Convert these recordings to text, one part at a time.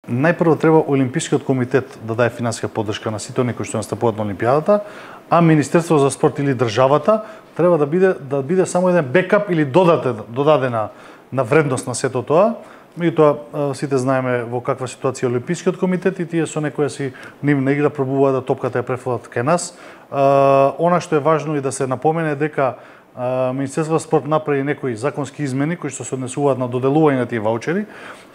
Најпрво треба Олимпискиот комитет да даде финансиска поддршка на сите оние кои што настапуваат на Олимпијадата, а Министерството за спорт или државата треба да биде само еден бекап или додадена на вредност на сето тоа. Меѓутоа сите знаеме во каква ситуација е Олимпискиот комитет и тие со некоја си нивна игра пробуваат да топката ја префрлат кај нас. Она што е важно и да се напомене дека Министерството за спорт направи некои законски измени кои што се однесуваат на доделување на тие ваучери.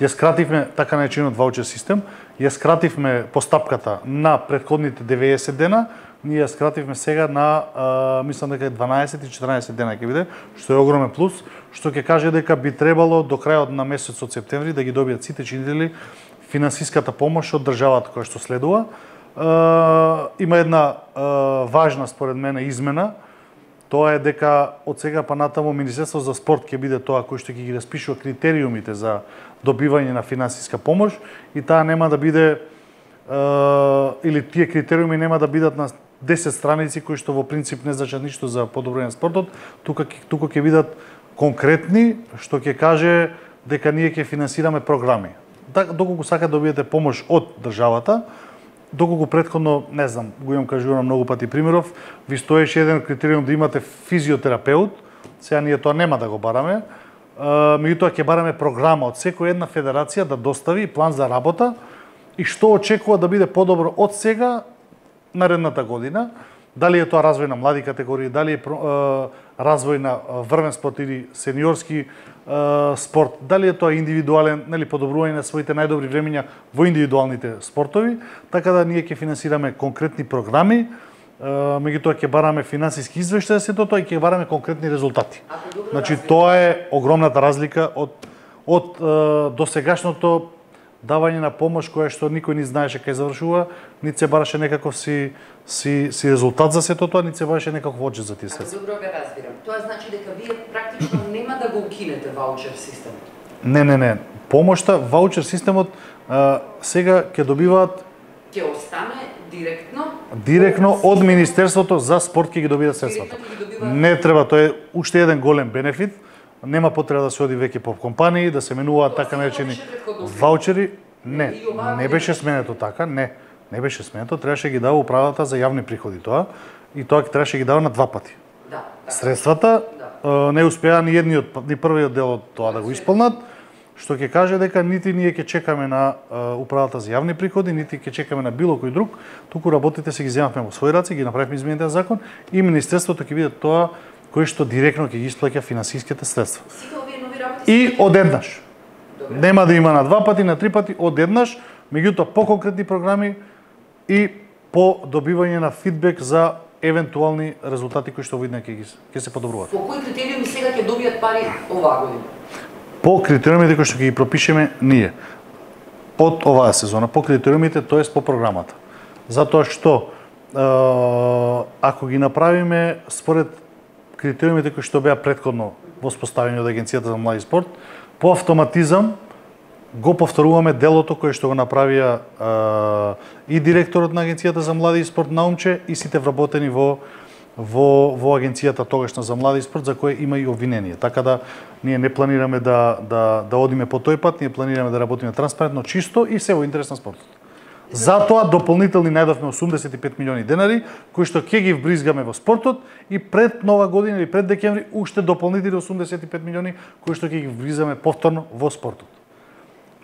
Ја скративме така наречениот ваучер систем, ја скративме постапката на претходните 90 дена, ние ја скративме сега на мислам дека 12 и 14 дена ќе биде, што е огромен плюс, што ќе каже дека би требало до крајот на месецот септември да ги добијат сите чинители финансиската помош од државата која што следува. Има една важна според мене измена. Тоа е дека од сега па натаму Министерството за спорт ќе биде тоа кој што ќе ги распишува критериумите за добивање на финансиска помош и таа нема да биде или тие критериуми нема да бидат на 10 страници кои што во принцип не значат ништо за подобрување на спортот, тука ќе бидат конкретни, што ќе каже дека ние ќе финансираме програми. Доколку сака да добиете помош од државата, доколку претходно, не знам, го имам кажувано многу пати примеров, ви стоеше еден критериум да имате физиотерапеут, сега ние тоа нема да го бараме, меѓутоа ќе бараме програма од секоја една федерација да достави план за работа и што очекува да биде подобро од сега наредната година, дали е тоа развој на млади категории, дали е развој на врвен спорт или сениорски спорт, дали е тоа индивидуален, нели подобрување на своите најдобри времиња во индивидуалните спортови, така да ние ќе финансираме конкретни програми, меѓутоа ќе бараме финансиски извештај за сето тоа и ќе бараме конкретни резултати. Значи тоа е огромната разлика од досегашното давање на помош која што никој не знаеше кај завршува, нит се бараше некаков си резултат за сето тоа, нит се бараше некаков оджет за тие средства. Добро га разбирам. Тоа значи дека вие практично нема да го укинете ваучер системот. Не. Помошта, ваучер системот сега ќе добиваат ќе остане директно од Министерството за спорт ќе ги добијат средствата. Не треба, тоа е уште еден голем бенефит. Нема потреба да се оди веќе по компании, да се менуваат така наречени ваучери. Не беше сменето така, не беше сменето, требаше ги дава управата за јавни приходи тоа и тоа требаше ги дава на два пати. Средствата не успеа ни првиот дел од тоа да го исполнат, што ќе каже дека нити ние ќе чекаме на управата за јавни приходи, нити ќе чекаме на било кој друг, туку работите се ги земавме во своји раце, ги направивме измените на закон и Министерството ќе биде тоа кој што директно ќе ги исплаќа финансиските средства. И одеднаш. Нема да има на два пати, на три пати, одеднаш, меѓутоа по конкретни програми и по добивање на фидбек за евентуални резултати кои што видно ќе се подобруваат. По кои критериуми сега ќе добијат пари оваа година? По критериумите кои што ќе ги пропишеме ние од оваа сезона, по критериумите, тоест по програмата. Затоа што ако ги направиме според критериумите кои што беа претходно воспоставени од Агенцијата за млади спорт, по автоматизам го повторуваме делото кое што го направија и директорот на Агенцијата за млади и спорт Наумче и сите вработени во Агенцијата тогашна за млади и спорт, за кој има и обвинение. Така да ние не планираме да одиме по тој пат, ние планираме да работиме транспарентно, чисто и се во интерес на спортот. Затоа дополнителни најдовме 85 милиони денари, кои што ќе ги вбризгаме во спортот и пред Нова година или пред декември уште дополнителни 85 милиони кои што ќе ги вбризгаме повторно во спортот.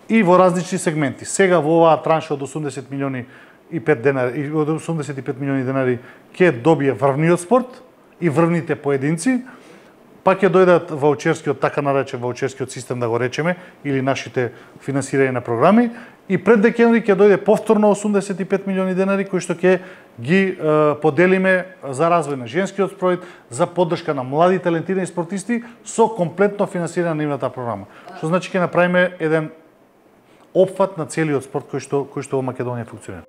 И во различни сегменти. Сега во оваа транша од 80 милиони и 5 денари и од 85 милиони денари ќе добие врвниот спорт и врвните поединци, па ќе дојдат ваучерскиот, така наречен ваучерскиот систем да го речеме, или нашите финансирање на програми, и пред декември ќе дојде повторно 85 милиони денари кои што ќе ги поделиме за развој на женскиот спорт, за поддршка на млади талентирани спортисти со комплетно финансирање на нивната програма. Што значи ќе направиме еден опфат на целиот спорт кој што во Македонија функционира.